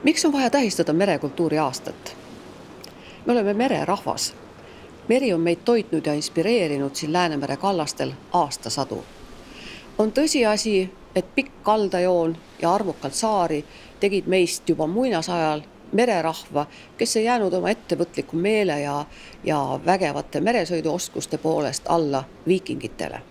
Miks on vaja tähistada merekultuuri aastat? Me oleme mererahvas. Meri on meid toitnud ja inspireerinud siin Läänemere kallastel aastasadu. On tõsiasi, et pikk kaldajoon ja arvukalt saari tegid meist juba muinasajal mererahva, kes ei jäänud oma ettevõtliku meele ja vägevate meresõiduoskuste poolest alla viikingitele.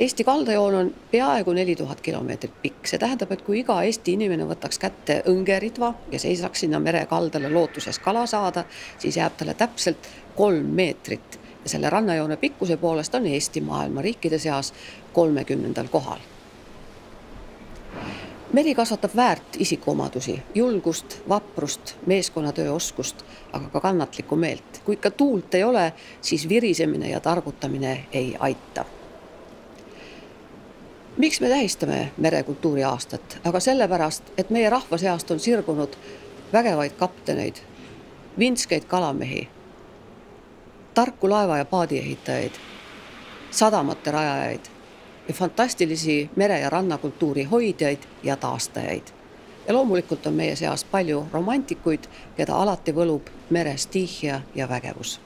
Eesti kaldajoon on peaaegu 4000 kilomeetrit pikk. See tähendab, et kui iga Eesti inimene võtaks kätte õngeritva ja seisaks sinna merekaldale lootuses kala saada, siis jääb talle täpselt 3 meetrit. Ja selle rannajoone pikkuse poolest on Eesti maailma riikide seas 30. kohal. Meri kasvatab väärt isikuomadusi, julgust, vaprust, meeskonnatööoskust, aga ka kannatlikku meelt. Kui ikka tuult ei ole, siis virisemine ja targutamine ei aita. Miks me tähistame merekultuuri aastat? Aga sellepärast, et meie rahva seast on sirgunud vägevaid kapteneid, vinskeid kalamehi, tarku laeva- ja paadiehitajaid, sadamate rajajaid ja fantastilisi mere- ja rannakultuuri hoidjaid ja taastajaid. Ja loomulikult on meie seas palju romantikuid, keda alati võlub mere stiihia ja vägevus.